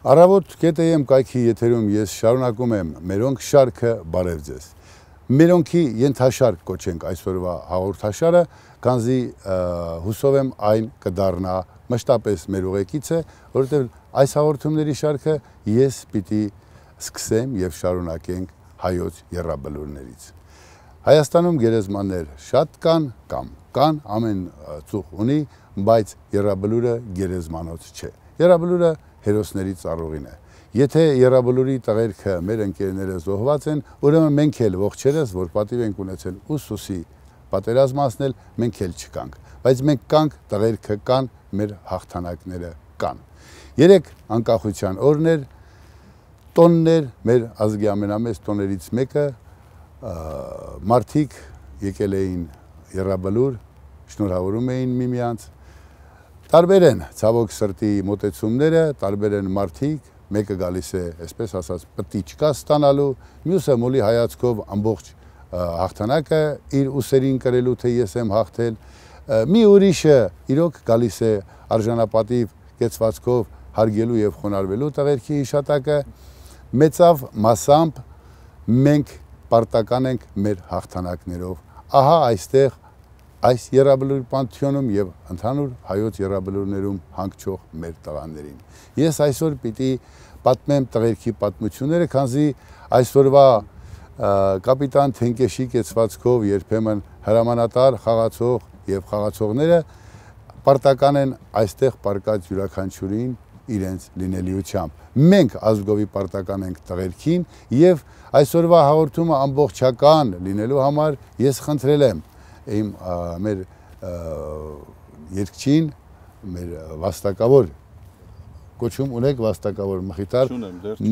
Առավոտ կետեմ կայքի եթերում ես շարունակում եմ մերոնք շարքը բարև ձեզ։ Մերոնքի ենթաշարք կոչենք այսօրվա հաղորդաշարը, քանզի հուսով եմ այն կդառնա մշտապես մեր ուղեկիցը, որովհետև այս հաղորդումների շարքը ես պիտի սկսեմ եւ շարունակենք հայոց եռաբլուրներից։ Հայաստանում գերեզմաններ շատ կան, ամեն ծուխ ունի, բայց եռաբլուրը գերեզմանոց չէ։ Եռաբլուրը հերոսների ծառուղին է։ Եթե եռաբլուրի տղերքը մեր ընկերները զոհված են, ուրեմն մենք էլ ողջերս, որ պատիվ ենք ունեցել ուսուսի պատերազմացնել, մենք էլ չկանք, բայց մենք կանք, տղերքը կան, մեր հաղթանակները կան։ 3 անկախության օրներ, տոններ, մեր ազգի ամենամեծ տոներից մեկը, մարդիկ եկել էին եռաբլուր, շնորհավորում էին միմյանց, տարբեր են ցավոք սրտի մոտեցումները, տարբեր են մարդիկ, մեկը գալիս է, այսպես ասած, պտիչկա ստանալու, մյուսը մոլի հայացքով ամբողջ հաղթանակը իր ուսերին կրելու, թե ես եմ հաղթել, մի ուրիշը իրոք գալիս է արժանապատիվ կեցվածքով հարգելու եւ խոնարհվելու տղերքի հիշատակը, մեծավ մասամբ մենք պարտական ենք մեր հաղթանակներով։ Ահա այստեղ այս եռաբլուրի պանթեոնում եւ ընդհանուր հայոց եռաբլուրներում հանգչող մեր տղաներին։ Ես այսօր պիտի պատմեմ տղերքի պատմությունները, քանզի այսօրվա կապիտան Թենկեշի կեցվածքով երբեմն հրամանատար խաղացող եւ խաղացողները պարտական են այստեղ պարկած յուրաքանչյուրին իրենց լինելիությամբ։ Մենք ազգովի պարտական ենք տղերքին եւ այսօրվա հաղորդումը ամբողջական լինելու համար ես խնդրել եմ մեր երկչին, մեր վաստակավոր, կոչում ունեք վաստակավոր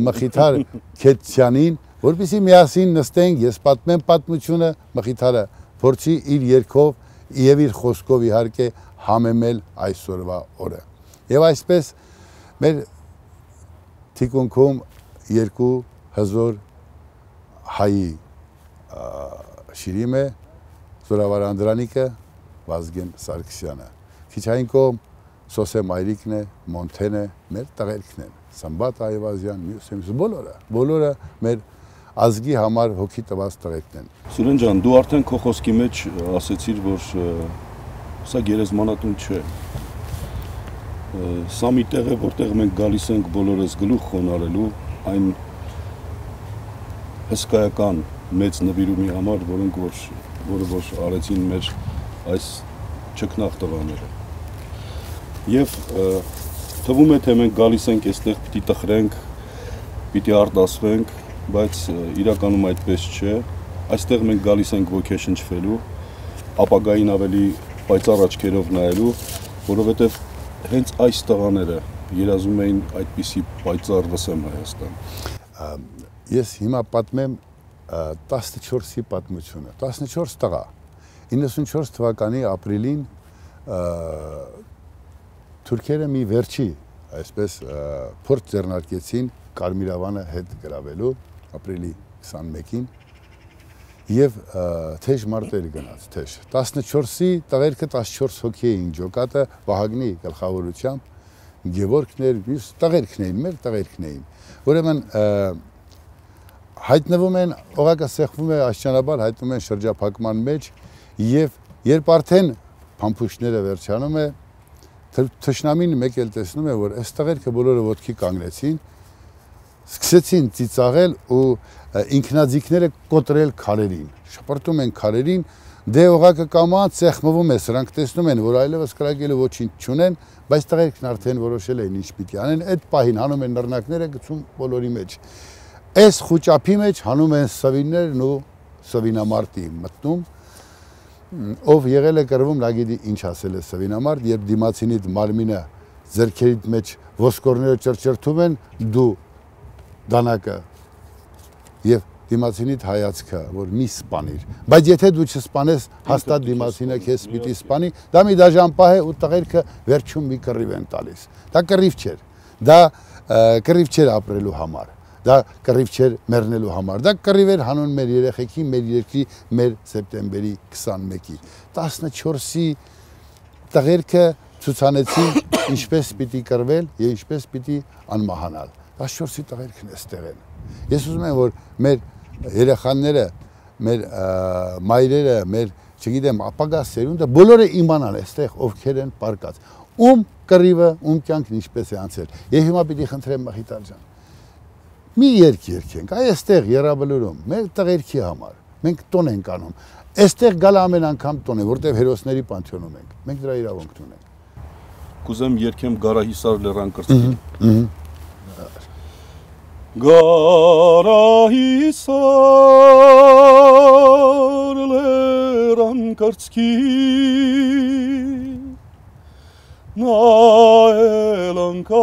Մխիթար Քեթյանին, որպեսզի միասին նստենք, ես պատմեմ պատմությունը, Մխիթարը փորձի իր երգով եւ իր խոսքով իհարկե համեմել այսօրվա օրը։ Եվ այսպես մեր թիկունքում երկու հզոր հայի շիրիմ է, Զորավար Անդրանիկը, Վազգեն Սարգսյանը, քիչ այն կողմ Սոսե Մայրիկն է, Մոնթեն է, մեր տղերքն են, Սամբատ Այվազյան, մյուս բոլորը մեր ազգի համար հոգի տված տղերքն են։ Սուրեն ջան, դու արդեն քո խոսքի մեջ ասեցիր, որ սա գերեզմանատուն չէ։ Սա մի տեղ է, որտեղ մենք գալիս ենք բոլորս գլուխ խոնարհելու այն հսկայական մեծ նվիրումի համար, որը որ արեցին մեր այս ճկնաղ տղաները։ Եվ թվում է, թե մենք գալիս ենք այստեղ պիտի տխրենք, պիտի արտասվենք, բայց իրականում այդպես չէ։ Այստեղ մենք գալիս ենք ոգեշնչվելու, ապագային ավելի պայծառ աչքերով նայելու, որովհետև հենց այս տղաները երազում էին այդպիսի պայծառ վսեմ Հայաստան։ Ես հիմա պատմեմ 14-ի պատմությունը, 14 տղա, 94 թվականի ապրիլին թուրքերը մի վերջի, այսպես փորձ ձեռնարկեցին Կարմիրավանը հետ գրավելու ապրիլի 21-ին եւ թեժ մարտեր գնաց, թեժ 14-ի տղերքը 14 հոգի էին ջոկատը Վահագնի գլխավորությամբ, Գևորգներ, մյուս տղերքն էին, մեր տղերքն էին, ուրեմն հայտնվում են, օղակը սեղվում է աստիճանաբար, հայտնվում են շրջափակման մեջ եւ երբ արդեն փամփուշտները վերջանում է, թշնամին մեկ էլ տեսնում է, որ այս տղերքը բոլորը ոտքի կանգնեցին, սկսեցին ծիծաղել ու ինքնաձիգները կոտրել քարերին, շպրտում են քարերին, դե օղակը կամած սեղմվում է, սրանք տեսնում են, որ այլևս կրակելու ոչինչ չունեն, բայց տղերքն արդեն որոշել էին ինչ պիտի անեն, այդ պահին հանում են նռնակները գցում բոլորի մեջ։ Այս խուճապի մեջ հանում են սվիններն ու սվինամարտի մտնում, ով եղել է կռվում, նա գիտի ինչ ասել է սվինամարտ, երբ դիմացինիդ մարմինը ձեռքերիդ մեջ ոսկորները ճրճրթում են, դու դանակը եւ դիմացինիդ հայացքը, որ մի սպանիր, բայց եթե դու չսպանես, հաստատ դիմացինը քեզ պիտի սպանի, դա մի դաժան պահ է ու տղերքը վերջում մի կռիվ են տալիս։ Դա կռիվ չէր, դա կռիվ չէր ապրելու համար։ Դա կռիվ չէր մեռնելու համար, դա կռիվ էր հանուն մեր երեխեքի, մեր երկրի, մեր սեպտեմբերի 21-ի։ 14-ի տղերքը ցուցանեցին ինչպես պիտի կռվել եւ ինչպես պիտի անմահանալ։ 14-ի տղերքն էստեղ են։ Ես ուզում եմ, որ մեր երեխաները, մեր մայրերը, մեր, չգիտեմ, ապագա սերունդը բոլորը իմանան այստեղ ովքեր են պարկած։ Ում կռիվը, ում կյանքն ինչպես է անցել։ Եվ հիմա պիտի խնդրեմ Մախիտար ջան։ Մի երգ երգենք, այստեղ Եռաբլուրում, մեր տղերքի համար։ Մենք տոն ենք անում։ Այստեղ գալ ամեն անգամ տոն է, որտեղ հերոսների պանթեոնում ենք։ Մենք դրա իրավունք ունենք։ Կուզեմ երգեմ Գարահիսար լեռան կրծքին։ Գարահիսար լեռան կրծքին նայել անկավ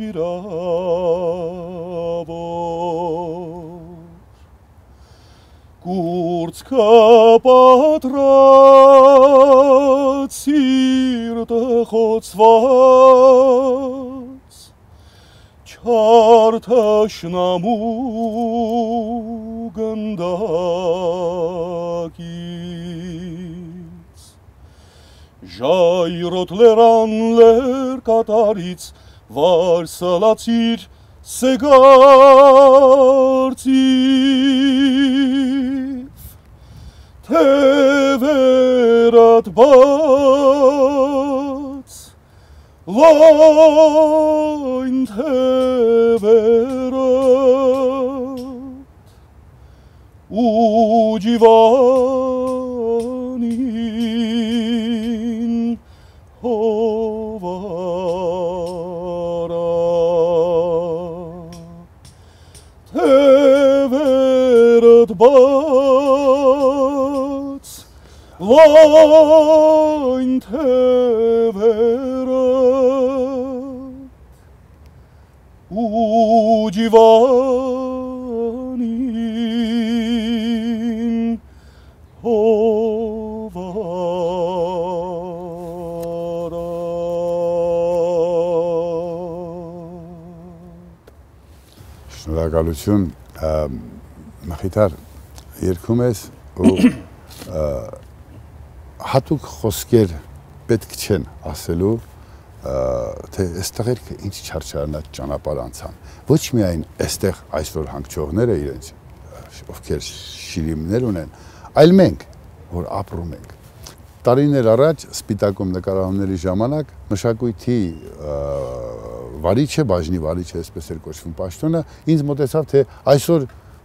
իրավոր կուրծքը պատրած սիրտը խոցված չար թշնամու գնդակից ժայռոտ լեռան լեռ կատարից վար սլացիր սեգարծիվ թևերդ բաց լայն թևերդ ու ջիվանին հովարա թևերդ բաց լայն թևերդ ու ջիվանին հովարա Շնորհակալություն Մախիտար երգում ես ու հատուկ խոսքեր պետք չեն ասելու թե այստեղ ինչ չարչարանած ճանապարհ անցան ոչ միայն այստեղ այսօր հանգչողները իրենց ովքեր շիրիմներ ունեն այլ մենք որ ապրում ենք տարիներ առաջ Սպիտակում նկարահանումների ժամանակ մշակույթի վարիչը բաժնի վարիչը այսպես էր կոչվում պաշտոնը ինձ մտածավ թե այսօր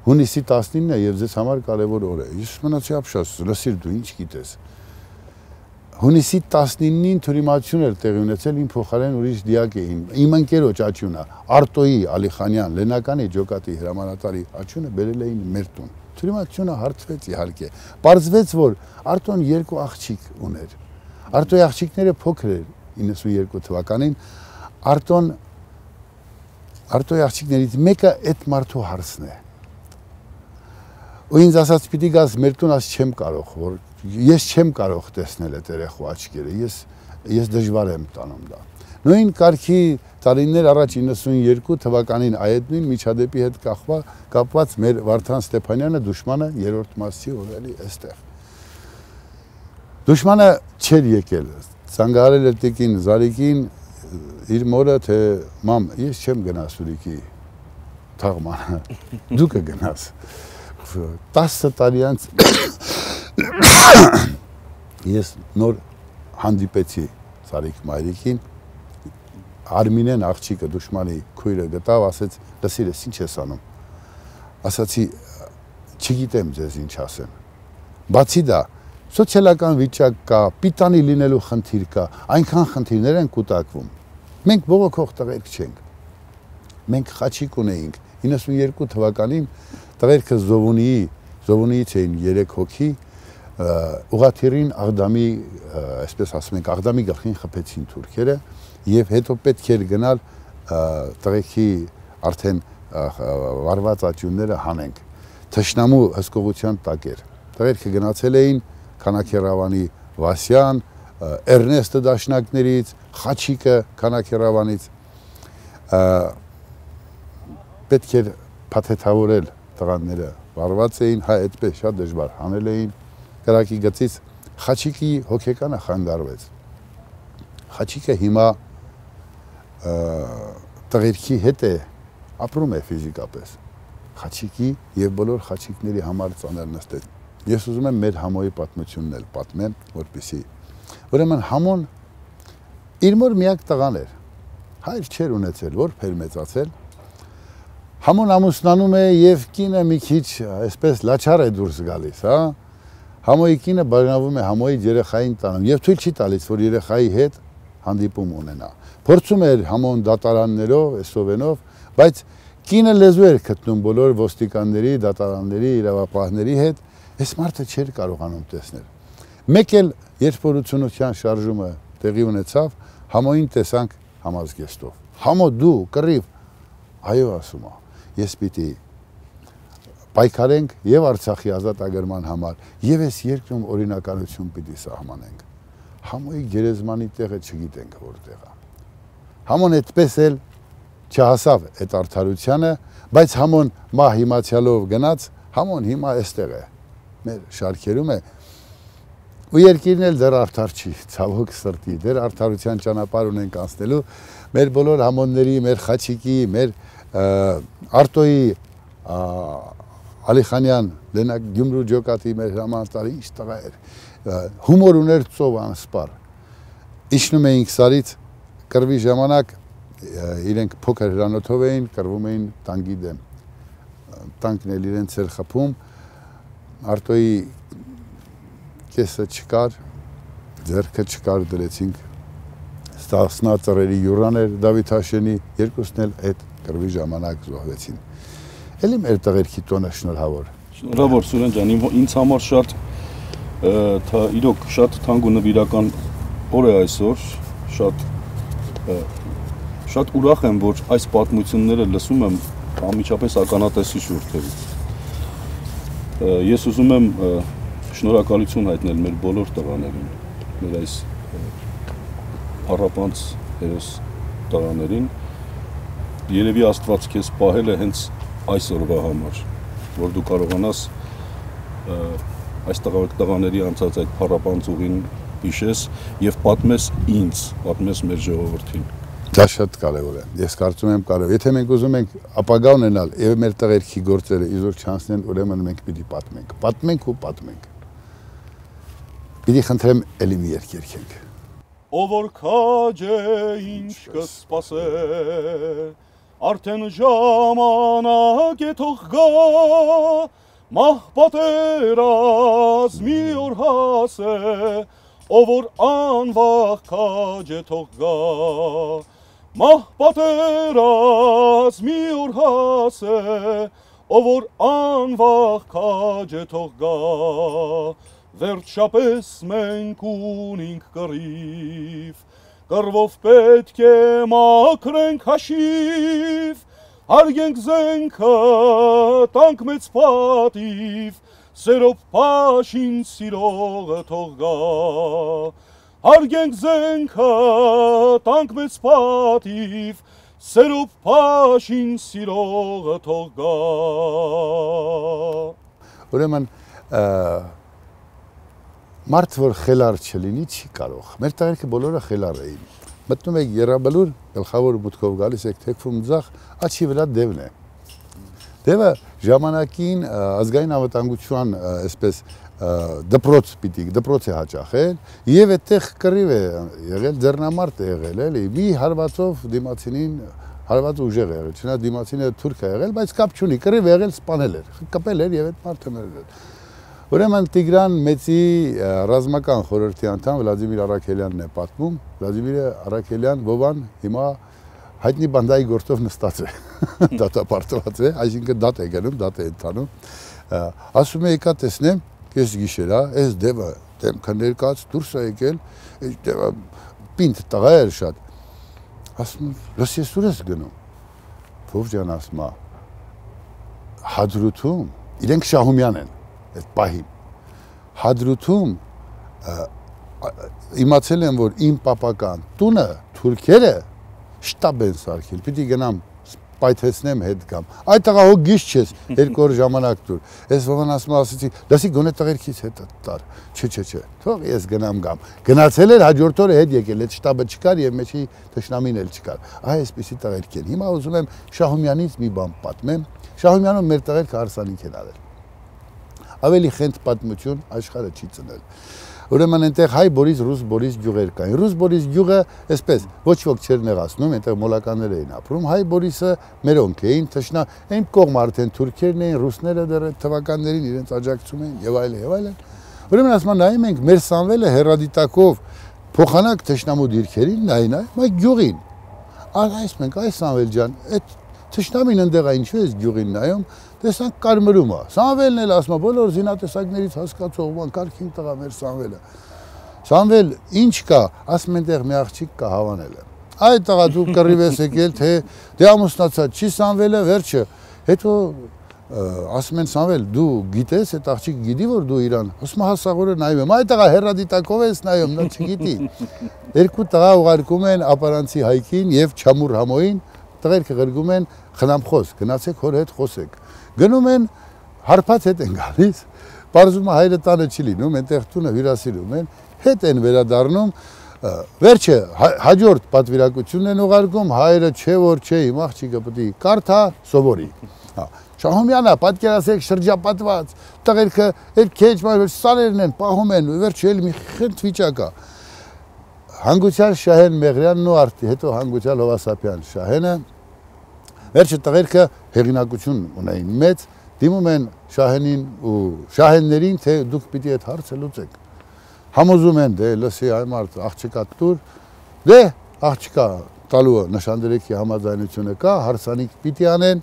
հունիսի 19-ն է եւ ձեզ համար կարեւոր օր է ես մնացի ապշած լսիր դու ինչ գիտես Հունիսի 19-ին թյուրիմացություն էր տեղի ունեցել իմ փոխարեն ուրիշ դիակ էին իմ ընկերոջ աչյունը Արտոյի Ալիխանյան Լենականի ջոկատի հրամանատարի աչյունը բերել էին մեր տուն թյուրիմացությունը հարցվեց իհարկե բարձվեց որ Արտոն երկու աղջիկ ուներ Արտոյի աղջիկները փոքր էր 92 թվականին Արտոյի աղջիկներից մեկը այդ մարդու հարցն է ու ինձ ասաց պիտի գաս մեր տուն աս չեմ կարող որ ես չեմ կարող տեսնել այդ երեխու աչքերը ես դժվար եմ տանում դա նույն կարգի տարիներ առաջ 92 թվականին այդ նույն միջադեպի հետ կապված մեր Վարդան Ստեփանյանը դուշմանը երրորդ մասի օրելի այստեղ դուշմանը չէր եկել ցանգարել էր տիկին Զարիկին իր մորը թե մամ ես չեմ գնա Սուրիկի թաղմանը դու կգնաս 10 տարի անց ես նոր հանդիպեցի Սարիկ մայրիկին Արմինեն աղջիկը դուշմանի քույրը գտավ ասեց լսիր ես ինչ ես անում ասացի չգիտեմ ձեզ ինչ ասեմ բացի դա սոցիալական վիճակ կա պիտանի լինելու խնդիր կա այնքան խնդիրներ են կուտակվում մենք բողոքող տղերք չենք մենք խաչիկ ունեինք 92 թվականին տղերքը Զովունիից էին 3 հոգի ուղաթիռին Աղդամի այսպես ասում ենք Աղդամի գլխին խփեցին թուրքերը եւ հետո պետք էր գնալ տղեկի արդեն վարված աճյունները հանենք թշնամու հսկողության տակ էր տղերքը գնացել էին Քանաքերավանի Վասյան Էրնեստը դաշնակներից Խաչիկը Քանաքերավանից պետք էր փաթեթավորել տղաները վարված էին հայ այդպես շատ դժվար հանել էին կրակի գծից Խաչիկի հոգեկանը խանգարվեց Խաչիկը հիմա տղերքի հետ է ապրում է ֆիզիկապես։ Խաչիկի եւ բոլոր խաչիկների համար ծանր նստեց։ Ես ուզում եմ մեր Համոյի պատմությունն էլ պատմեմ, որպեսզի ուրեմն Համոն իր մոր միակ տղան էր։ Հայր չէր ունեցել, որբ էր մեծացել։ Համոն ամուսնանում է եւ կինը մի քիչ այսպես լաչար է դուրս գալիս, հա։ Համոյի կինը բաժանվում է Համոյի երեխային տանում եւ թույլ չի տալիս, որ երեխայի հետ հանդիպում ունենա։ Փորձում էր Համոն դատարաններով, էսովենով, բայց կինը լեզու էր գտնում բոլոր ոստիկանների, դատարանների, իրավապահների հետ, այս մարդը չէր կարողանում տեսնել։ Մեկ էլ երբ որ 80-ության շարժումը տեղի ունեցավ, Համոյին տեսանք համազգեստով։ Համո դու կռիվ, այո ասում է, ես պիտի պայքարենք եւ Արցախի ազատագրման համար, եւ այս երկրում օրինականություն պիտի սահմանենք։ Համոյի գերեզմանի տեղը չգիտենք որտեղ է։ Համոն այդպես էլ չհասավ այդ արդարությանը, բայց Համոն մահ իմացյալով գնաց, Համոն հիմա այստեղ է, մեր շարքերում է, ու երկիրն էլ դեռ արդար չի, ցավոք սրտի, դեռ արդարության ճանապարհ ունենք անցնելու, մեր բոլոր Համոնների, մեր Խաչիկի, մեր Արտոյի, Ալիխանյան, Լենակ Գյումրու ջոկատի մեր հրամանատարի ինչ տղա էր, հումոր ուներ ծով անսպար, իջնում էինք սարից, կռվի ժամանակ իրենք փոքր հրանոթով էին, կռվում էին տանկի դեմ, տանկն էլ իրենց էր խփում, Արտոյի կեսը չկար, ձեռքը չկար, դրեցինք Ստասնա ծռերի յուռան էր Դավիթ Հաշենի, երկուսն էլ այդ կռվի ժամանակ զոհվեցին։ Էլի մեր տղերքի տոնը շնորհավոր։ Շնորհավոր Սուրեն ջան, ինձ համար իրոք շատ թանկ ու նվիրական օր է այսօր, շատ ուրախ եմ, որ այս պատմությունները լսում եմ անմիջապես ականատեսի շուրթերից։ Ես ուզում եմ շնորհակալություն հայտնել մեր բոլոր տղաներին, մեր այս փառապանծ հերոս տղաներին, երևի Աստված քեզ պահել է հենց այս օրվա համար, որ դու կարողանաս այս տղաների անցած այդ փառապանծ ուղին հիշես եւ պատմես ինձ, պատմես մեր ժողովրդին։ Դա շատ կարևոր է։ Ես կարծում եմ կարևոր։ Եթե մենք ուզում ենք ապագա ունենալ եւ մեր տղերքի գործերը իզուր չանցնեն, ուրեմն մենք պիտի պատմենք։ Պատմենք ու պատմենք։ Պիտի խնդրեմ էլի մի երգ երգենք։ Ով որ քաջ է ինչ կսպասե, արդեն ժամանակ է թող գա, մահ պատերազմի օր հասե, ով որ անվախ քաջ է թող գա, մահ պատերազմի օր հասե, ով որ անվախ քաջ է թող գա, վերջապես մենք ունենք կռիվ, կռվով պետք է մաքրենք հաշիվ, հարգենք զենքը, տանք մեծ պատիվ, սերով պաշին սիրողը թող գա, հարգենք զենքը, տանք մեծ պատիվ, սերով պաշին սիրողը թող գա։ Ուրեմն մարդ որ խելար չլինի չի կարող։ Մեր տղերքը բոլորը խելար էին։ Մտնում եք Եռաբլուր, գլխավոր մուտքով գալիս եք թեքվում ձախ, աչքի վրա դևն է։ Դևը ժամանակին ազգային անվտանգության այսպես դպրոց է հաճախել եւ այդտեղ կռիվ է եղել, ձեռնամարտ է եղել, էլի։ Մի հարվածով դիմացինին հարված ուժեղ է եղել, չնայած դիմացինը թուրք է եղել, բայց կապ չունի, կռիվ եղել, սպանել էր, կպել էր եւ այդ մարդը մերել էր։ Ուրեմն Տիգրան Մեծի ռազմական խորհրդի անդամ Վլադիմիր Արաքելյանն է պատմում, Վլադիմիր Արաքելյան Վովան հիմա հայտնի բանդայի գործով նստած է, դատապարտված է, այսինքն դատ է գնում, դատ է ընթանում, ասում է եկա տեսնեմ, կես գիշեր, այս դևը դեմքը ներկած դուրս է եկել, այս դևը պինդ տղա էր շատ, ասում լս ես ուր ես գնում, Վով ջան ասում է, Հադրութում, իրենք Շահումյան են, այդ պահին, Հադրութում իմացել եմ, որ իմ պապական տունը թուրքերը շտաբ են սարքել, պիտի գնամ պայթեցնեմ հետ գամ։ Այդ տղա հո գիշ չես, 2 օր ժամանակ դուր։ Ես ովան ասացի, լսի գոնե տղերքից հետ տար։ Չէ, թող ես գնամ գամ։ Գնացել էր հաջորդ օրը հետ եկել, այդ շտաբը չկար եւ մեջի թշնամին էլ չկար։ Այսպեսի տղերք են։ Հիմա ուզում եմ Շահումյանից մի բան պատմեմ։ Շահումյանը մեր տղերքը հարսանիք են արել։ Ավելի խենթ պատմություն աշխարհը չի ծնել։ Ուրեմն այնտեղ հայ Բորիս, ռուս Բորիս գյուղեր կային։ Ռուս Բորիս գյուղը, այսպես, ոչ ոք չէր նեղացնում, այնտեղ մոլականներ էին ապրում։ Հայ Բորիսը մերոնք էին, այն կողմը արդեն թուրքերն էին, ռուսները դեռ թվականներին իրենց աջակցում էին եւ այլն։ Ուրեմն ասում են նայում ենք մեր Սամվելը հերադիտակով փոխանակ թշնամու դիրքերին, նայ, մայ գյուղին։ Այս մենք այս Սամվել ջան, այդ թշնամին ընդեղ է ինչու է գյուղին նայում, տեսանք կարմրում է։ Սամվելն էլ ասում է բոլոր զինատեսակներից հասկացող ման կարքին տղա մեր Սամվելը։ Սամվել ինչ կա, ասում այնտեղ մի աղջիկ կա հավանել է։ Այդ տղա դու կռիվ ես եկել, թե դե ամուսնացած չի Սամվելը, վերջը։ Հետո ասում են Սամվել, դու գիտես, այդ աղջիկ գիտի որ դու իրան։ Ասում է հասաղորը նայում եմ, այդ տղա հերադիտակով ես նայում, նա չգիտի։ Երկու տղա ուղարկում են ապարանցի հայքին եւ Չամուր համոյին, տղերքը գրգում են խնամխոս, գնացեք հոր հետ խոսեք։ Գնում են, հարբած հետ են գալիս, պարզում է հայրը տանը չի լինում, այնտեղ տունը հյուրասիրում են, հետ են վերադառնում, վերջը հաջորդ պատվիրակությունն են ուղարկում, հայրը չէ որ չէ, իմ աղջիկը պետք է կարդա, սովորի։ Շահումյանը պատկերացրեք շրջապատված, տղերքը այդ քեջ սարերն են, պահում են, վերջը էլ մի խենթ վիճակ է։ Հանգուցյալ Շահեն Մեղրյանն ու հետո Հանգուցյալ Հովասապյան Շահենը վերջը տղերքը հեղինակություն ունեին մեծ, դիմում են Շահենին ու Շահեններին, թե դուք պիտի այդ հարցը լուծեք։ Համոզում են, դե լսի այ մարդ աղջկա տուր, դե աղջկա տալու նշանդրեքի համաձայնությունը կա, հարսանիք պիտի անեն,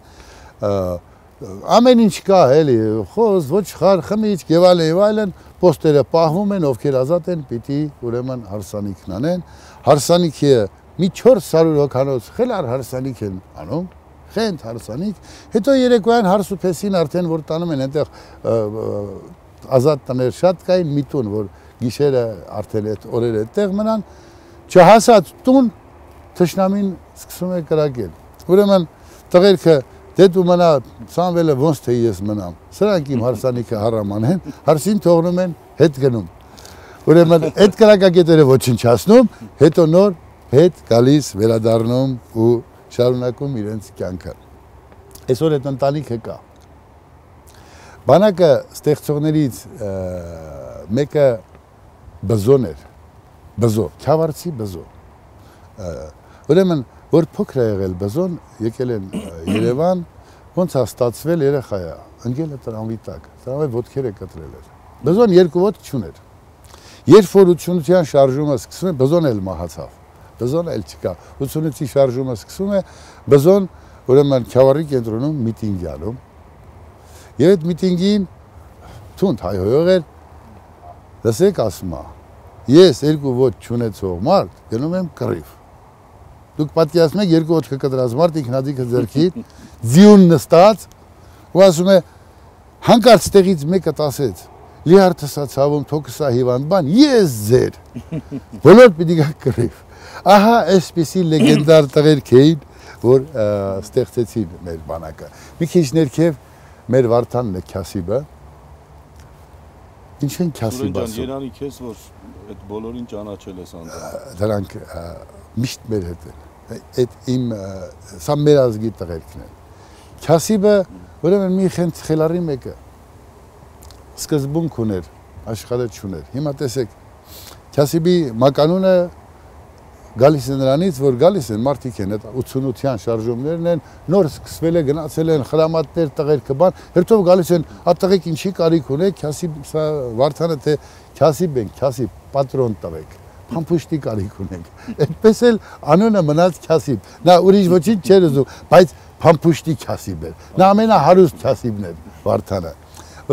ամեն ինչ կա էլի, խոս, ոչ խար, խմիչք եւ այլն, պոստերը պահվում են, ովքեր ազատ են, պիտի ուրեմն հարսանիքն անեն, հարսանիքը մի 400 հոգանոց խելար հարսանիք են անում, խենթ հարսանիք, հետո երեկոյան հարսուփեսին արդեն որ տանում են այնտեղ ազատ տներ շատ կային, մի տուն, որ գիշերը արդեն այդ օրերը այդտեղ մնան, չհասած տուն թշնամին սկսում է կրակել։ Ուրեմն տղերքը դե դու մնա Սամվելը ոնց թե ես մնամ։ Սրանք իմ հարսանիքը հարաման են, հարսին թողնում են, հետ գնում։ Ուրեմն այդ կրակակետերը ոչնչացնում, հետո նոր հետ գալիս վերադառնում ու շարունակում իրենց կյանքը։ Այսօր այդ ընտանիքը կա։ Բանակը ստեղծողներից մեկը Բզոն էր, Բզո, Քյավառցի Բզո։ Ուրեմն որ փոքր է եղել Բզոն, եկել են Երևան, ոնց է ստացվել երեխա է, ընկել է տրամվի տակ, տրամվի ոտքերը կտրել էր։ Բզոն 2 ոտք չուներ։ Երբ որ 88-յան շարժումը սկսվում է, Բզոն էլ մահացավ։ Բզոն էլ չկա։ 88-ի շարժումը սկսվում է, Բզոն ուրեմն Քյավառի կենտրոնում միտինգ անում։ Եվ այդ միտինգին թունդ հայհոյող էր, լսեք ասում է, ես 2 ոտք չունեցող մարդ գնում եմ կռիվ։ Դուք պատկերացնում եք 2 ոտքը կտրած մարդ ինքնաձիգը ձեռքին, ձիուն նստած, ու ասում է հանկարծ տեղից մեկը ասեց. Լիարդսա ցավում թոքսա հիվանդ բան, ես ձեր։ Բոլոր պիտի գա կռիվ։ Ահա այսպիսի լեգենդար տղերք էին, որ ստեղծեցին մեր բանակը։ Մի քիչ ներքև մեր Վարդանն է Քյասիբը։ Ինչ են Քյասիբը ասում։ Երանի քեզ որ այդ բոլորին ճանաչել ես անդր։ Դրանք միշտ մեր հետ են։ Այդ իմ սա մեր ազգի տղերքն են։ Քյասիբը ուրեմն մի խենթ խելարի մեկը սկզբունք ուներ, աշխարհը չուներ։ Հիմա տեսեք, Քյասիբի մականունը գալիս է նրանից, որ գալիս են մարդիկ են, այդ 88-յան շարժումներն են, նոր սկսվել է, գնացել են խրամատներ, տղերքը բան, հերթով գալիս են, ատղեք ինչի կարիք ունեք, Քյասիբ, սա Վարդանը թե Քյասիբ ենք, Քյասիբ, պատրոն տվեք, փամփուշտի կարիք ունենք, այդպես էլ անունը մնաց Քյասիբ, նա ուրիշ ոչինչ չէր ուզում, բայց փամփուշտի Քյասիբ էր, նա ամենահարուստ Քյասիբն էր Վարդանը,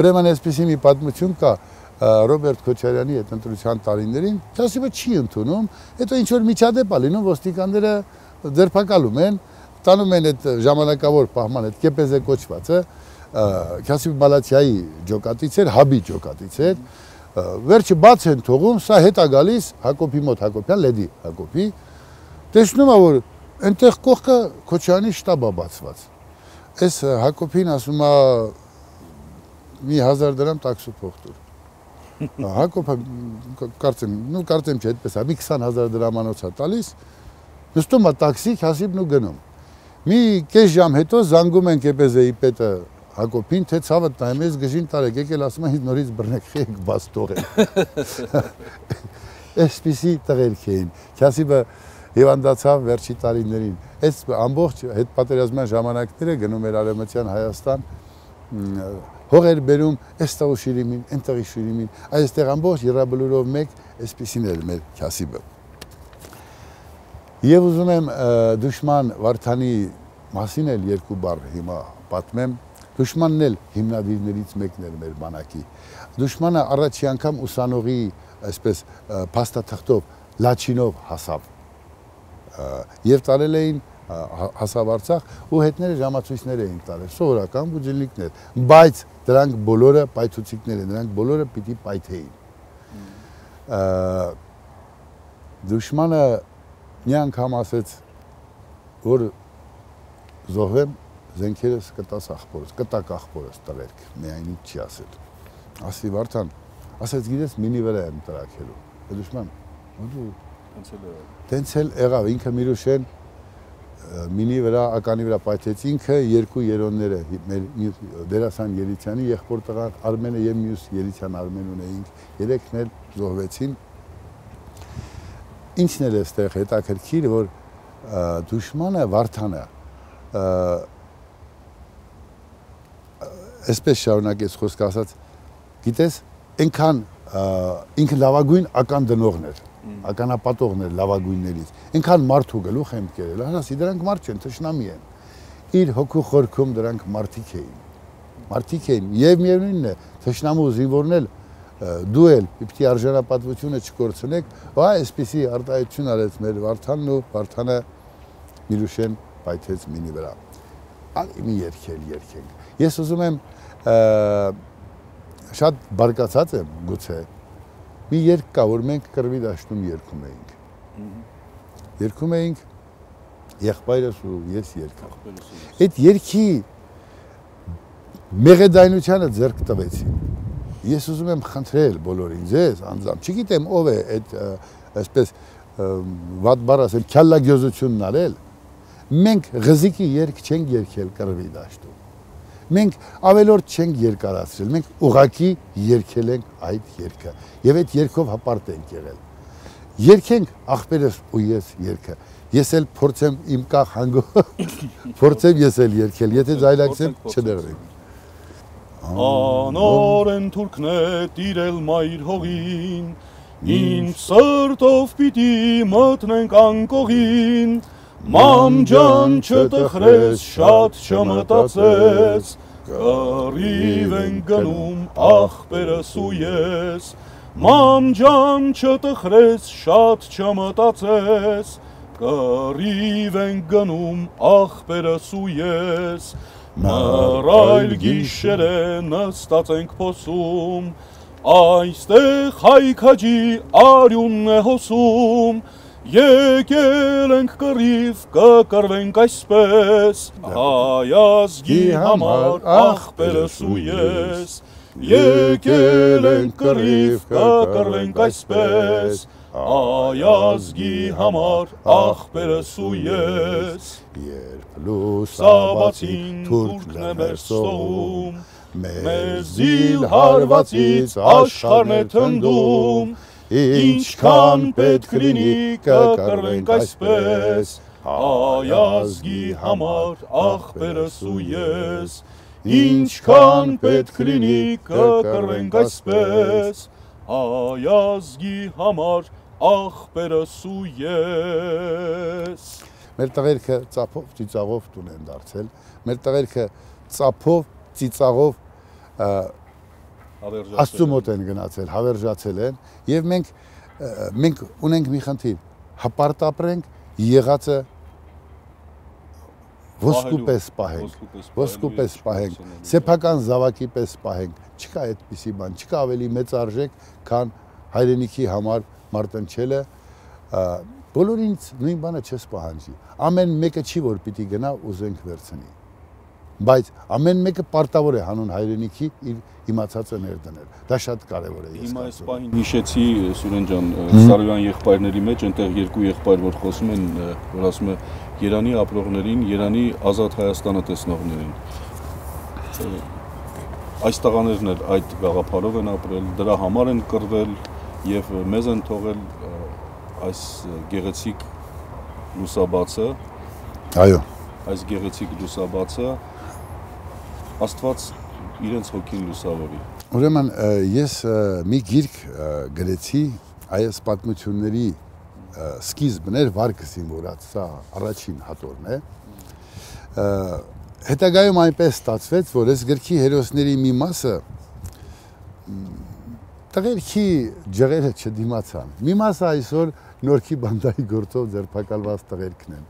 ուրեմն այսպիսի մի պատմություն կա, Ռոբերտ Քոչարյանի այդ ընտրության տարիներին Քյասիբը չի ընդունում, հետո ինչ որ միջադեպ է լինում, ոստիկանները ձերբակալում են, տանում են այդ ժամանակավոր պահման այդ կեպեզե կոչվածը, Քյասիբ Մալաթիայի ջոկատից էր, Հաբի ջոկատից էր, վերջը բաց են թողում, սա հետ է գալիս Հակոբի մոտ, Հակոբյան Լեդի Հակոբի, տեսնում է որ Այնտեղ կողքը Քոչարյանի շտաբը բացված։ Այս Հակոբին ասում է մի 1000 դրամ տաքսու փող տուր։ Հակոբը կարծեմ չէ այդպես է, մի 20000 դրամանոց է տալիս, նստում է տաքսի, Քասիբն ու գնում։ Մի կես ժամ հետո զանգում են ԿՊԶ-ի պետը Հակոբին, թե ցավը տայմ ես գժին տարեք, եկել ասում է նորից բռնեք խեք բաց թողել։ Այսպիսի տղերք էին։ Քասիբը հիվանդացավ վերջի տարիներին։ Այս ամբողջ հետպատերազմյան ժամանակները գնում էր Արևմտյան Հայաստան, հողեր բերում, այստեղ Շիրիմին, այնտեղի Շիրիմին, այստեղ ամբողջ Եռաբլուրով մեկ այսպիսին էր մեր Քասիբը։ Եվ ուզում եմ դուշման Վարդանի մասին էլ երկու բառ հիմա պատմեմ։ Դուշմանն էլ հիմնադիրներից մեկն էր մեր բանակի։ Դուշմանը առաջի անգամ ուսանողի այսպես փաստաթղթով Լաչինով հասավ եւ տարել էին հասավ Արցախ ու հետները ժամացույցներ էին տարել, սովորական բուջելիկներ, բայց դրանք բոլորը պայթուցիկներ են, դրանք բոլորը պիտի պայթեին։ Դուշմանը մի անգամ ասեց, որ զոհվեմ զենքերս կտաս ախպորս, կտակ ախպորս տղերք, միայն ինչ չի ասել։ Ասի Վարդան, ասեց գիտես մինի վրա եմ տրակելու։ Դուշման, տենց էլ եղավ, ինքը Միրուշեն մինի վրա, ականի վրա պայթեց, ինքը երկու երոնները, մեր դերասան Ելիցյանի եղբոր տղան Արմենը եւ մյուս Ելիցյան Արմեն ունեինք, երեքն էլ զոհվեցին։ Ինչն էլ էստեղ հետաքրքիր, որ դուշմանը Վարդանը այսպես շարունակեց խոսքը ասած, գիտես, այնքան ինքը լավագույն ական դնողն էր, ականապատողն էր լավագույններից, այնքան մարդու գլուխ եմ կերել, ասի դրանք մարդ չեն, թշնամի են, իր հոգու խորքում դրանք մարդիկ էին, եւ միևնույնն է, թշնամու զինվորն էլ դու էլ պիտի արժանապատվությունը չկորցնեք, այսպիսի արտահայտություն արեց մեր Վարդանն ու Վարդանը Միրուշեն պայթեց մինի վրա։ Մի երկենք։ Ես ուզում եմ շատ բարկացած եմ գուցե։ Մի երգ կա, որ մենք կռվի դաշտում երգում էինք։ Երգում էինք եղբայրս ու ես երգ։ Այդ երգի մեղեդայնությանը ձեռք տվեցին։ Ես ուզում եմ խնդրել բոլորին, ձեզ անձամբ, չգիտեմ ով է այդ այսպես վատ բառ ասել, քյալլագյոզությունն արել, մենք ղզիկի երգ չենք երգել կռվի դաշտում, մենք ավելորդ չենք երկարացրել, մենք ուղղակի երգել ենք այդ երգը եւ այդ երգով հպարտ ենք եղել։ Երգենք ախպերս ու ես երգը, ես էլ փորձեմ իմ կախ հանգո, փորձեմ ես էլ երգել, եթե ձայլակսեմ չներվենք։ Անորեն թուրքն է տիրել մայր հողին, ինչ սրտով պիտի մտնենք անկողին, մամ ջան չտխրես, շատ չմտածես, կռիվ են գնում ախպերս ու ես, մամ ջան չտխրես, շատ չմտածես, կռիվ են գնում ախպերս ու ես, Մռայլ գիշեր է նստած ենք փոսում, այստեղ հայքաջի արյունն է հոսում, եկել ենք կռիվ, կկռվենք այսպես, հայ ազգի համար ախպերս ու ես, եկել ենք կռիվ, կկռվենք այսպես, հայ ազգի համար ախպերս ու ես, երբ լուսաբացին թուրքն է մեր ստողում, մեզ զիլ հարվածից աշխարհն է թնդում, ինչքան պետք լինի կկռվենք այսպես, հայ ազգի համար ախպերս ու ես, ինչքան պետք լինի կկռվենք այսպես, հայ ազգի համար ախպերս ու ես։ Մեր տղերքը ծափով, ծիծաղով տուն են դարձել, մեր տղերքը ծափով, ծիծաղով Աստծու մոտ են գնացել, հավերժացել են եւ մենք ունենք մի խնդիր, հպարտ ապրենք, եղածը ոսկու պես պահենք, սեփական զավակի պես պահենք, չկա այդպիսի բան, չկա ավելի մեծ արժեք, քան հայրենիքի համար մարտնչելը, բոլորինց նույն բանը չես պահանջի։ Ամեն մեկը չի որ պիտի գնա ուզենք վերցնի։ Բայց ամեն մեկը պարտավոր է հանուն հայրենիքի իր իմացածը ներդնել։ Դա շատ կարևոր է։ Հիմա այս պահին հիշեցի Սուրեն ջան, Սարոյան եղբայրների մեջ այնտեղ երկու եղբայր որ խոսում են, որ ասում է Երանի ապրողներին, Երանի ազատ Հայաստանը տեսնողներին։ Այս տղաներն էլ այդ գաղափարով են ապրել, դրա համար են կռվել եւ մեզ են թողել այս գեղեցիկ լուսաբացը։ Այո։ Այս գեղեցիկ լուսաբացը Աստված իրենց հոգին լուսավորի։ Ուրեմն ես մի գիրք գրեցի այս պատմությունների սկիզբն էր վարկսին որած, սա առաջին հատորն է։ Հետագայում այնպես ստացվեց, որ այս գրքի հերոսների մի մասը տղերքի ջղերը չդիմացան։ Մի մասը այսօր Նորքի բանդայի գործով ձերբակալված տղերքն են։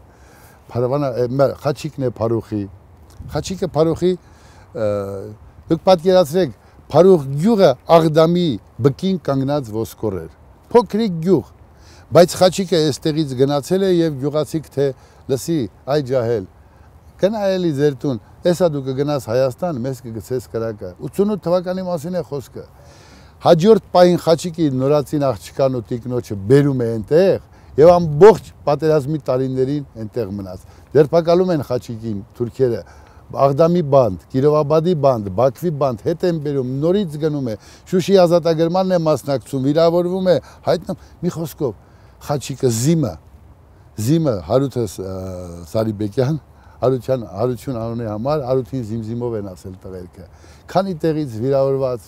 Խաչիկն է Փարուխի։ Խաչիկը Փարուխի դուք պատկերացրեք Փարուխ գյուղը Աղդամի բկին կանգնած ոսկոր էր։ Փոքրիկ գյուղ, բայց Խաչիկը այստեղից գնացել է եւ գյուղացիք թե լսի այ ջահել գնա էլի ձեր տուն, էսա դու կգնաս Հայաստան, մեզ կգցես կրակը։ 88 թվականի մասին է խոսքը։ Հաջորդ պահին Խաչիկի նորացին աղջկան ու տիկնոջը բերում է այնտեղ եւ ամբողջ պատերազմի տարիներին այնտեղ մնաց։ Ձերբակալում են Խաչիկին թուրքերը, Աղդամի բանդ, Կիրովաբադի բանդ, Բաքվի բանդ հետ են բերում, նորից գնում է, Շուշի ազատագրմանն է մասնակցում, վիրավորվում է, հայտնում, մի խոսքով, Խաչիկը Զիմը Հարութ Սարիբեկյան, Հարություն անունի համար, Հարութին Զիմզիմով են ասել տղերքը, քանի տեղից վիրավորված,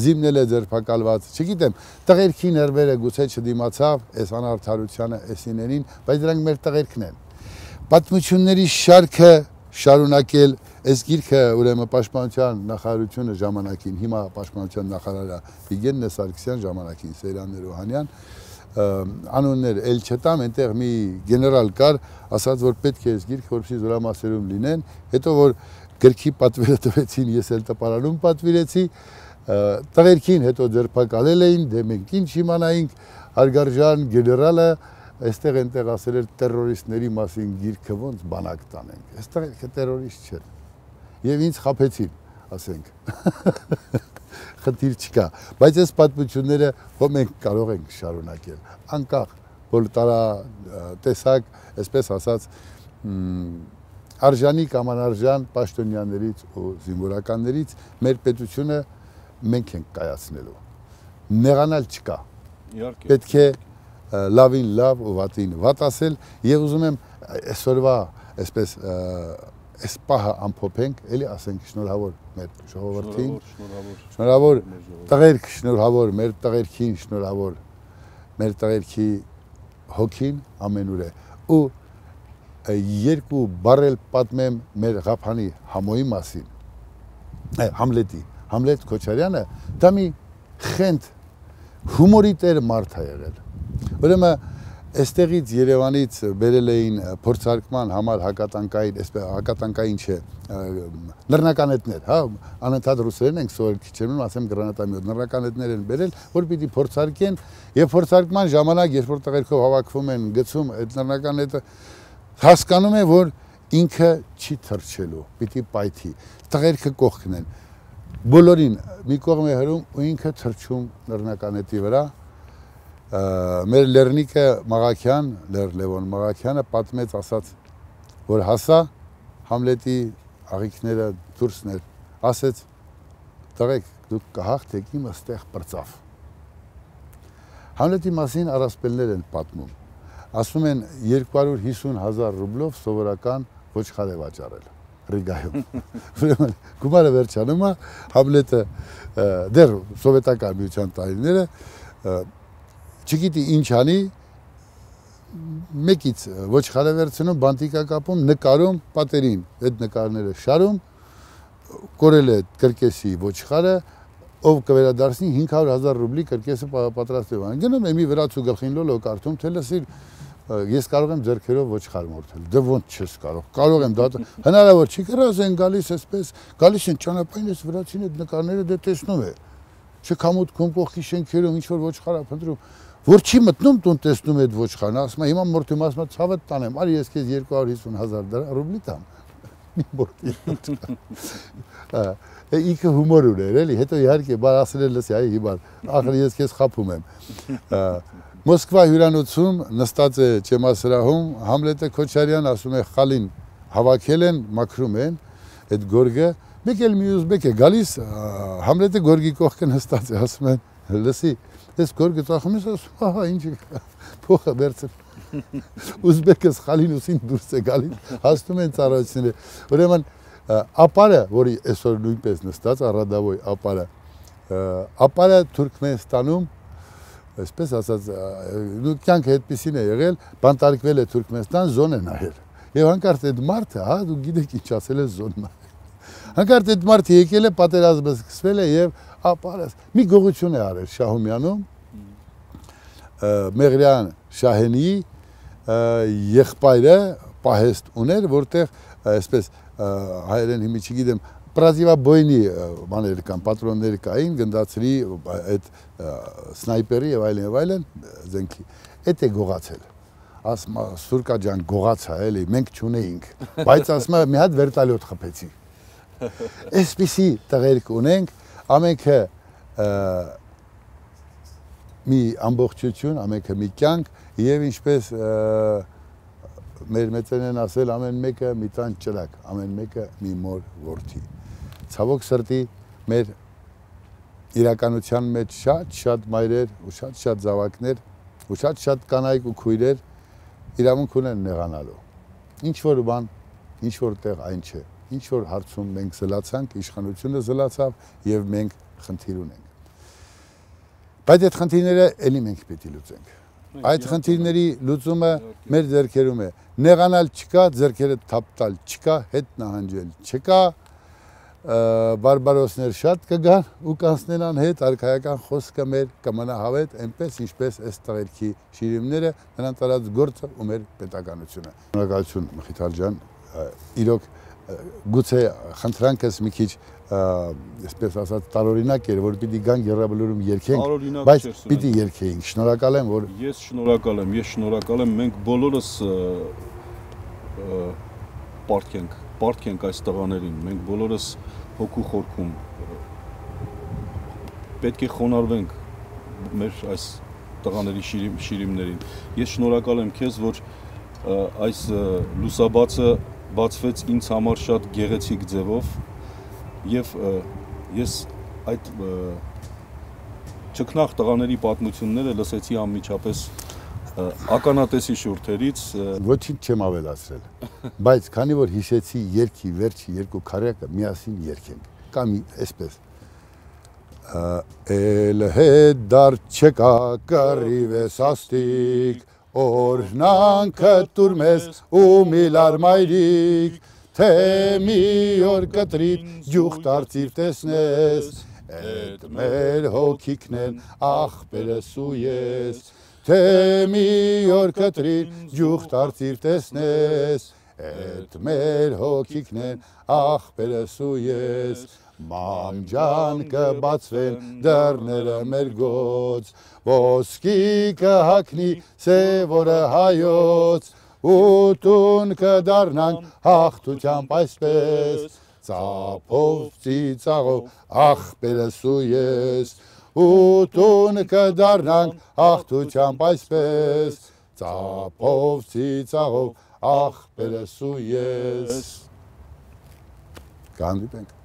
Զիմն էլ է ձերբակալված, չգիտեմ, տղերքի ներվերը գուցե չդիմացավ, այս անարդարությանը, այսիներին, բայց դրանք մեր տղերքն են։ Պատմությունների շարքը շարունակել այս գիրքը ուրեմն պաշտպանության նախարարությունը ժամանակին, հիմա պաշտպանության նախարարը Վիգեն Սարգսյան ժամանակին Սեյրան Ներոհանյան, անուններ էլ չտամ, այնտեղ մի գեներալ կար, ասաց որ պետք է այս գիրքը որպեսզի զորամասերում լինեն, հետո որ գրքի պատվերը տվեցին, ես էլ տպարանում պատվիրեցի, տղերքին հետո ձերբակալել էին, դե մենք ինչ իմանայինք, Հարգարժան գեներալը այստեղ այնտեղ ասել էր տերորիստների մասին գիրքը ոնց բանակ տանենք, այստեղ ինքը տերորիստ չէր, եւ ինձ խաբեցին, ասենք, խնդիր չկա, բայց այս պատմությունները որ մենք կարող ենք շարունակել, անկախ, որ տեսակ, այսպես ասած, արժանի կամ անարժան պաշտոնյաներից ու զինվորականներից մեր պետությունը մենք ենք կայացնելու, նեղանալ չկա, պետք է լավին լավ ու վատին վատ ասել եւ ուզում եմ այսօրվա այսպես այս պահը ամփոփենք, էլի ասենք շնորհավոր մեր ժողովրդին, շնորհավոր տղերք, շնորհավոր մեր տղերքին, շնորհավոր մեր տղերքի հոգին ամենուր է ու երկու բառել պատմեմ մեր Ղափանի Համոյի մասին, Համլետ Քոչարյանը դա մի խենթ հումորի տեր մարդ է եղել։ Ուրեմն այստեղից Երևանից բերել էին փորձարկման համար հակատանկային չէ, նռնականետներ, հա, անընդհատ ռուսերեն ենք սովորել, քիչ եմ ասեմ գրանատամյոտ, նռնականետներ են բերել, որ պիտի փորձարկեն, եւ փորձարկման ժամանակ, երբ որ տղերքով հավաքվում են, գցում այդ նռնականետը, հասկանում է, որ ինքը չի թռչելու, պիտի պայթի, տղերքը կողքն են, բոլորին մի կողմ է հրում ու ինքը թռչում նռնականետի վրա։ Մեր Լեռնիկը Մաղաքյան, Լևոն Մաղաքյանը պատմեց, ասաց, որ հասա Համլետի աղիքները դուրսներ, ասեց, տղեկ, դուք կհաղթեք, իմը ստեղ պրծավ։ Համլետի մասին առասպելներ են պատմում, ասում են 250,000 ռուբլով սովորական ոչխար է վաճառել Ռիգայում։ Գումարը վերջանում է, Համլետը դեռ սովետական միության տարիները չգիտի ինչ անի, մեկից ոչխար է վերցնում, բանտիկա կապում, նկարում պատերին, այդ նկարները շարում, կորել է կրկեսի ոչխարը, ով կվերադարձնի 500,000 ռուբլի կրկեսը պատրաստել է։ Գնում է մի վրացու գլխին լոլո կարդում, թե լսիր, ես կարող եմ ձեռքերով ոչխար մորթել, դե ոնց չես կարող եմ դա, հնարավոր չի կրած են գալիս այսպես, գալիս են ճանապարհին այս վրացին այդ նկարները դե տեսնում է, չքամուտքում կողքի շենքերում ինչ որ ոչխար է փնտրում, որ չի մտնում տուն տեսնում այդ ոչխարը, ասում է հիմա մորթի ասում է ցավը տանեմ, արի ես քեզ 250,000 ռուբլի տամ։ Մի մորթի։ Ինքը հումոր ուներ, էլի, հետո իհարկե բար ասել լսի, այ հիմա ախր ես քեզ խափում եմ։ Մոսկվա հյուրանոցում նստած է ճեմասրահում Համլետը Քոչարյան ասում է խալին հավաքել են, մաքրում են այդ գորգը, մեկ էլ մի ուզբեկ է գալիս, Համլետը գորգի կողքը նստած է, ասում են, լսի, այս գորգը ծախում ես, ասում, ահա, ինչ փողը վերցրել։ Ուզբեկը խալին ուսին դուրս է գալիս, հասնում են ծառայությունները։ Ուրեմն ապարը, որի այսօր նույնպես նստած առադավոյ ապարը Թուրքմենստանում, այսպես ասած, կյանքը այդպեսին է եղել, բանտարկվել է Թուրքմենստան, զոն է նահել։ Եվ հանկարծ այդ մարդը, հա, դու գիտեք ինչ ասել է զոն նահել։ Հանկարծ այդ մարդը եկել է, պատերազմը սկսվել է եւ ապարը մի գողություն է արել Շահումյանում, Մեղրյան Շահենի եղբայրը պահեստ ուներ, որտեղ այսպես հայերեն հիմի չգիտեմ, պրազիվաբոյնի բաներ կան, պատրոններ կային, գնդացրի այդ սնայպերի եւ այլն զենքի։ Այդ է գողացել։ Ասում է Սուրկա ջան գողացա էլի, մենք չունեինք, բայց ասում է մի հատ վերտալյոտ խփեցի։ Այսպիսի տղերք ունենք, ամենքը մի ամբողջություն, ամենքը մի կյանք եւ ինչպես մեր մեծերն են ասել, ամեն մեկը մի տան ճրակ, ամեն մեկը մի մոր որդի։ Ցավոք սրտի մեր իրականության մեջ շատ մայրեր ու շատ զավակներ ու շատ կանայք ու քույրեր իրավունք ունեն նեղանալու։ Ինչ որ բան, ինչ որ տեղ այն չէ։ Ինչ որ հարցում մենք զլացանք, իշխանությունը զլացավ եւ մենք խնդիր ունենք։ Բայց այդ խնդիրները էլի մենք պետք է լուծենք։ Այդ խնդիրների լուծումը մեր ձեռքերում է։ Նեղանալ չկա, ձեռքերը թափ տալ չկա, հետ նահանջել չկա, բարբարոսներ շատ կգան ու կանցնեն հետ, արքայական խոսքը մեր կմնա հավետ, այնպես ինչպես այս տղերքի շիրիմները, նրանց արած գործը ու մեր պետականությունը։ Շնորհակալություն Մխիթար ջան, իրոք գուցե խնդրանքս մի քիչ այսպես ասած տարօրինակ էր, որ պիտի գան Եռաբլուրում երգենք, բայց պիտի երգեինք։ Շնորհակալ եմ, որ ես շնորհակալ եմ, մենք բոլորս պարտք ենք այս տղաներին, մենք բոլորս հոգու խորքում պետք է խոնարհվենք մեր այս տղաների շիրիմներին։ Ես շնորհակալ եմ քեզ, որ այս լուսաբացը բացվեց ինձ համար շատ գեղեցիկ ձևով եւ ես այդ ճկնաղ տղաների պատմությունները լսեցի անմիջապես ականատեսի շուրթերից ոչինչ չեմ ավելացրել, բայց քանի որ հիշեցի երգի վերջի երկու քարյակը միասին երգենք, կամ այսպես Էլ հետ դար չեկա կռիվես աստիկ, օրհնանքը տուր մեզ ու միլար մայրիկ, թե մի օր կտրիտ ջուխ դարձիր տեսնես, էդ մեր հոգիքն են աղբերս ու ես, թե մի օր կտրիտ ջուխ դարձիր տեսնես, էդ մեր հոգիքն են աղբերս ու ես, Մամ ջան կբացվեն դռները մեր գոց, ոսկի կհագնի սևորը հայոց, ու տուն կդառնանք հաղթությամբ այսպես, ծափով ծիծաղով աղբերս ու ես, ու տուն կդառնանք հաղթությամբ այսպես, ծափով ծիծաղով աղբերս ու ես։ Կհանդիպենք։